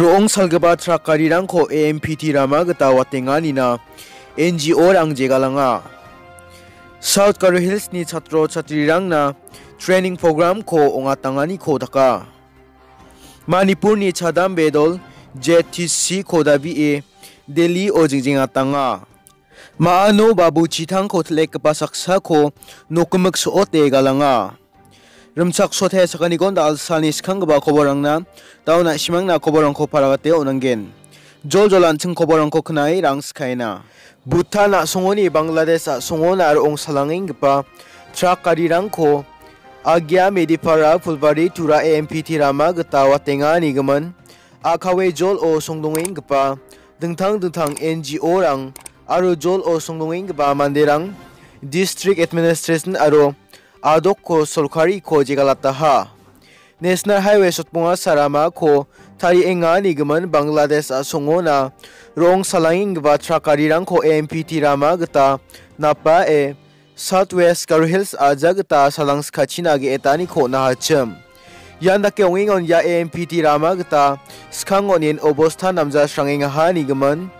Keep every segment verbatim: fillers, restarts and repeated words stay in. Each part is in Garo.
Ro·ong salgipa trak garirangko A M P T rama gita watenganina N G O-rang jegalanga. South Garo Hills-ni chatro chatrirangna training program-ko ong·atanganiko daka. Manipurni chadam bedol J T C-ko dabie Delhi-o jingjengatanga. Ma·ano babu chitangko til·ekgipa saksako nokgimik so·ote galanga. Rimchaksote sakaniko da·alsalni skanggipa koborangna, da·o na·simangna koborangko paragate on·angen. Joljol an·ching koborangko knae rang skaena. Bhutan a·songoni Bangladesh a·songona ro·ong salangenggipa trak garirangko Agia, Medipara, Phulbari, Tura A M P T rama gita watenganigimin a·kawe jol-o songdongenggipa dingtang dingtang N G O-rang aro jol-o songdongenggipa manderang, district administration aro adokko sorkariko jegalataha. National Highway sotbonga saramako tarienganigimin Bangladesh a·songona ro·ong salangenggipa trak garirangko A M P T rama gita napae South West Garo Hills a·ja gita salangskachina ge·etaniko on·ahachim. Ian dake ong·engon ia A M P T rama gita skango on·en obosta namja srangengaha nigimin.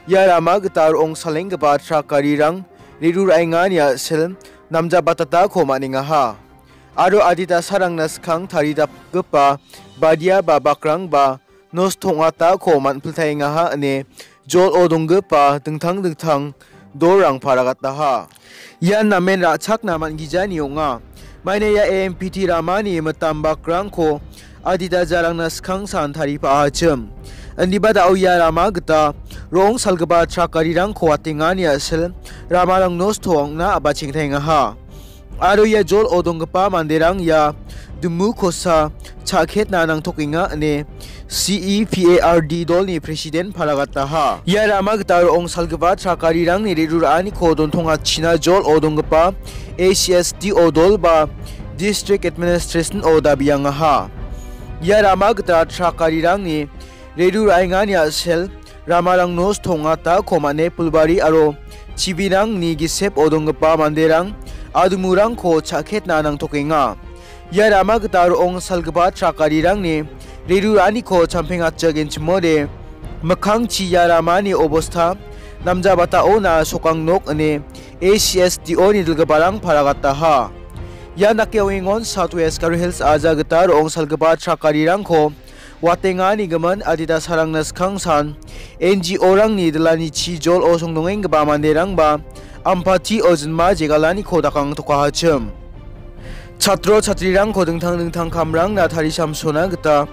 Ia rama gita ro·ong salenggipa trak garirang re·ruraengani a·sil namja batatako man·engaha. Aro adita sarangna skang taridapgipa badia ba bakrangba nosto ong·atako man·piltaengaha ine jol-o donggipa dingtang dingtang dolrang paragataha. Ian namen ra·chakna man·gijani ong·a. Maina ia A M P T ramani mitam bakrangko adita jarangna skangsan taripa·achim. Indiba da·o ia rama gita ro·ong salgipa trak garirangko watengani a·sil ramarang nosto ong·na a·bachengtaengaha. Aro ia jol-o donggipa manderang ia dumu kosa cha·ketna nangtokenga ine C E P A R D dolni president paragataha. Ia rama gita ro·ong salgipa trak garirangni re·ruraaniko dontongachina jol-o donggipa A C S D O dol ba district administration-o dabiangaha. Ia rama gita trak garirangni re·ruraengani a·sel ramarang nosto ong·atako man·e Phulbari aro chibirangni gisepo donggipa manderang adumurangko cha·ketna nangtokenga. Ia rama gita ro·ong salgipa trak garirangni re·ruraaniko champengachak enchimode mikkangchi ia ramani obosta namjabataona sokang nok ine A C S D O-ni dilgiparang paragataha. Ian dake ong·engon South West Garo Hills a·ja gita ro·ong salgipa trak garirangko watenganigimin adita sarangna skangsan N G O-rangni dilani chijol-o songdongenggipa manderangba ampati ojinma jegalaniko dakangtokahachim. Chatro chatrirangko dingtang dingtang kamrangna tarisamsona gita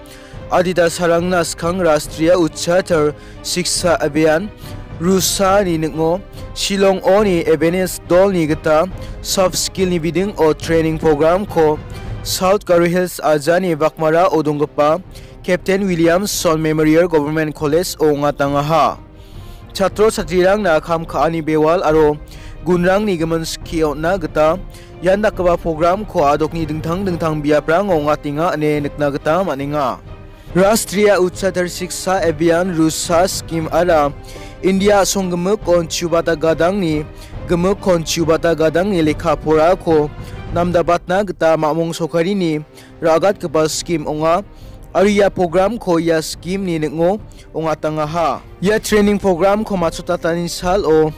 adita sarangna skang Rashtriya Uchatar Shiksha Abhiyan, Rusa-ni ning·o, Shillong-oni Ebenezer dolni gita soft skill-ni bidingo training program-ko South Garo Hills a·jani Baghmara-o donggipa Captain Williamson Memorial Government College-o ong·atangaha. Chatro chatrirangna kam ka·ani bewal aro gunrangni gimin skie on·na gita ian dakgipa program-ko adokni dingtang dingtang biaprango ong·atenga ine nikna gita man·enga. Rashtriya Uchatar Shiksha Abhiyan Rusa skim ara India a·song gimikon chubata gadangni, gimikon chubata gadangni lekka porako namdabatna gita mamung sokarini ra·gatgipa skim ong·a. Aro ia program-ko ia skim-ni ning·o ong·atangaha. Ia training program-ko matchotatani salo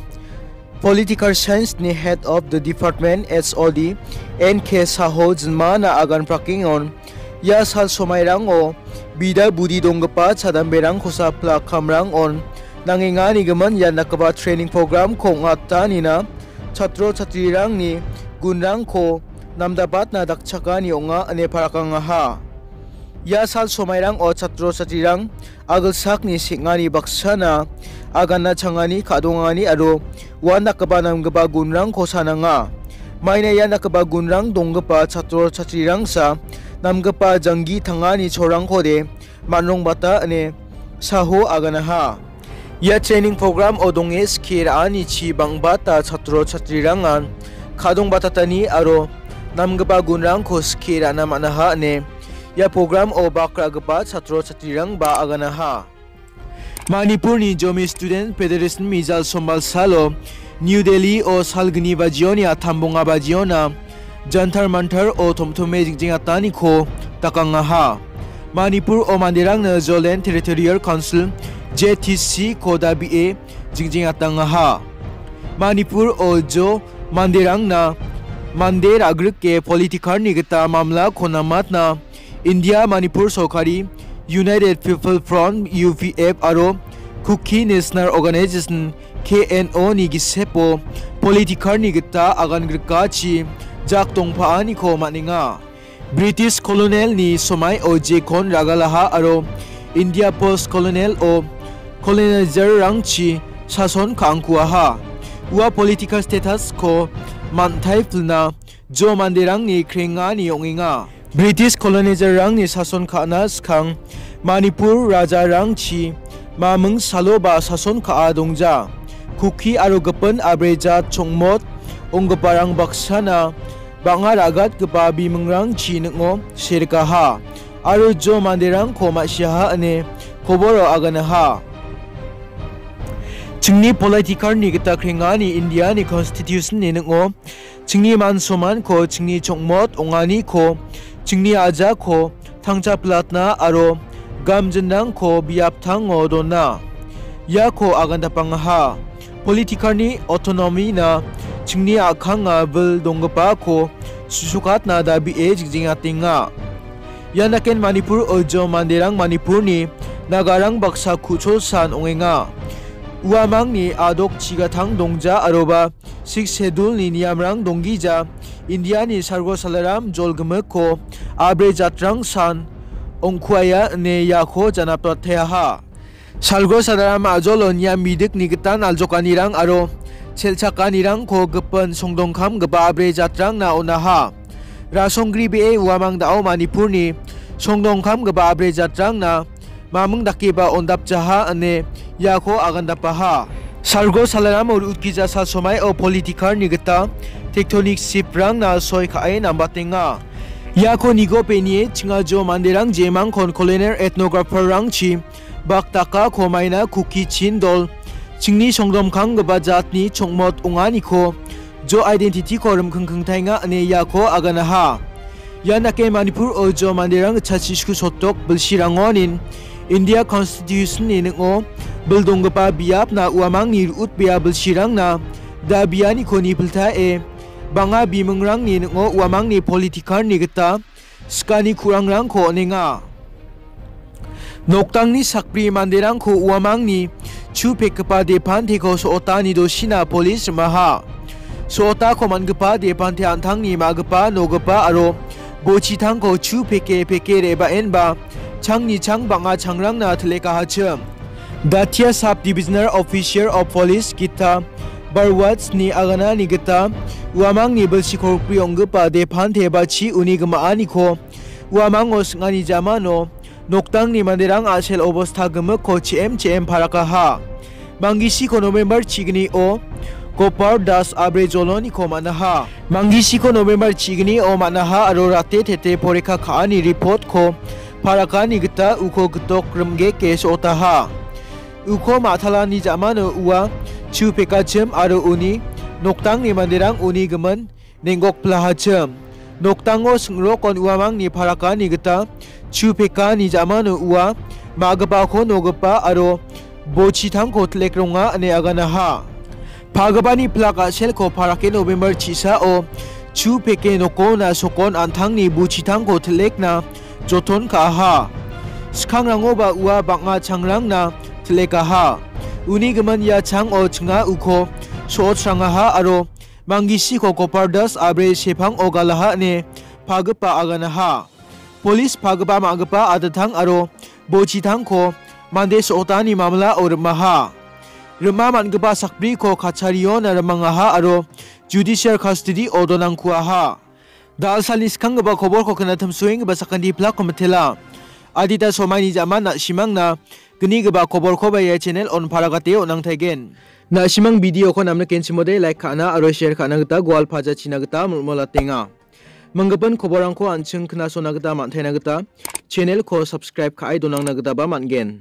Political Science-ni Head of the Department, H O D, N K Saho jinmana agan prakengon ia sal somairango bida budi donggipa chadamberangkosa plak kamrangon nangenganigimin ia dakgipa training program-ko ong·atanina chatro chatrirangni gunrangko namdabatna dakchakani ong·a ine parakangaha. Ia sal somairango chatro chatrirang agilsakni seng·ani baksana agana changani ka·dongani aro uan dakgipa namgipa gunrangko sananga. Maina ia dakgipa gunrang donggipa chatro chatrirangsa namgipa janggi tangani cholrangkode man·rongbata ine Saho aganaha. Ia training program-o donge skie ra·anichi bang·bata chatro chatrirangan ka·dongbatatani aro namgipa gunrangko skie ra·na man·aha ine ia program-o bak ra·gipa chatro chatrirangba aganaha. Manipurni Zomi Student Federation mijal sombal salo New Delhi-o salgni bajioni a tambonga bajiona Jantar Mantar-o tomtome jingjengataniko dakangaha. Manipur o manderangna Zoland Territorial Council, J T C ko dabie jingjingatangaha. Manipur o Jo manderangna mande ra·grike politikarni gita mamlako namatna India Manipur Sorkari, United People Front, U P F, aro Kuki National Organization, K N O, ni gisepo politikarni gita agan grikachi jak dongpaaniko man·enga. British colonial-ni somaio jekon ragalaha aro India post colonial-o colonizer-rangchi sason ka·angkuaha. Ua political status-ko man·taipilna Jo manderangni krengani ong·enga. British colonizer-rangni sason ka·na skang Manipur rajarangchi maming salo ba sason ka·a dongja. Kuki aro gipin abrejat chongmot onggiparang baksana bang·a ra·gatgipa bimingrangchi ning·o serikaha aro Jo manderangko ma·siaha ine koboro aganaha. Chingni politikarni gita krengani Indiani Constitution-ni ning·o chingni man somanko, chingni chongmot ong·aniko, chingni ajako tangcha pilatna aro gamjinrangko biaptango dona. Iako agandapangaha. Politikarni autonomy-na chingni a·kanga bil donggipako susukatna dabie jingjingatenga. Ian daken Manipur o Jo manderang Manipurni nagarang baksa ku·cholsan ong·enga. Uamangni adok chigatang dongja aroba Sixth Schedule-ni niamrang donggija Indiani salgo salaram jolgimikko abre jatrangsan ong·kuaia ine iako janaprateaha. Salgo salaram a·jolo niam bidikni gitan aljokanirang aro sel·chakanirangko gipin songdongkamgipa abre jatrangna on·aha. Rasonggri be·e uamang da·o Manipurni songdongkamgipa abre jatrangna maming dakeba ondapjaha ine iako agandapaha. Salgo salaramo ru·utgija sal somaio politikarni gita tectonic shift-rangna soi ka·e nambatenga. Iako nigopenie chinga Jo manderang jemangkon colonial ethnographer-rangchi bakdakako maina Kuki Chin dol chingni songdomkanggipa jatni chongmot ong·aniko Jo identity-ko rimkhingkhingtaenga ine iako aganaha. Ian dake Manipur o Jo manderang gitchakchi sku sotok bilsirangonin India Constitution-ni ning·o bil donggipa biapna uamangni ru·utbea bilsirangna dabianiko nipiltae bang·a bimingrangni ning·o uamangni politikarni gita skani ku·rangrangko on·enga. Noktangni sakbri manderangko uamangni chu pekgipa depanteko so·ota nidosina polis rimaha. So·otako man·gipa depante an·tangni ma·gipa nogipa aro bochitangko chu peke peke re·baenba changni chang bang·a changrangna tilekahachim. Datia Sub Divisional Officer of Police Gita Barwats-ni aganani gita uamangni bilsi kolgri ong·gipa depante ba chi uni gimaaniko uamango sing·ani jamano noktangni manderang a·sel obosta gimikko chi·em chi·em parakaha. Mangisiko November chi·gnio Gopal Das abre joloniko man·aha. Mangisiko November chi·gnio man·aha aro rate tete porikka ka·ani report-ko parakani gita uko gitok rimgeke so·otaha. Uko ma·talani jamano ua chu pekachim aro uni noktangni manderang uni gimin neng·gokplahachim. Noktango sing·rokon uamangni parakani gita chu pekani jamano ua ma·gipako nogipa aro bochitangko tilekronga ine aganaha. Pagipani plak a·selko parake November chi·sao chu peke nokona sokon an·tangni bochitangko tilekna joton ka·aha. Skangrangoba ua bang·a changrangna tilekaha. Uni gimin ia chango chinga uko so·otrangaha aro Mangisiko Gopal Das abre sepango galaha ine pagipa aganaha. Polis pagipa ma·gipa adatang aro bochitangko mande so·otani mamlao rimaha. Rima man·gipa sakbriko kachariona rimangaha aro judicial custody-o donangkuaha. Dalsalni skanggipa koborko knatimsoenggipa sakanti plakko mitela. Adita somaini ja·man na·simangna gnigipa koborkoba ia channel-on paragate on·angtaigen. Na·simang video-ko namnikenchimode like ka·na aro share ka·na gita gual pajachina gita mol·molatenga. Manggipan koborrangko an·ching knasona gita man·taina gita channel-ko subscribe ka·e donangna gitaba man·gen.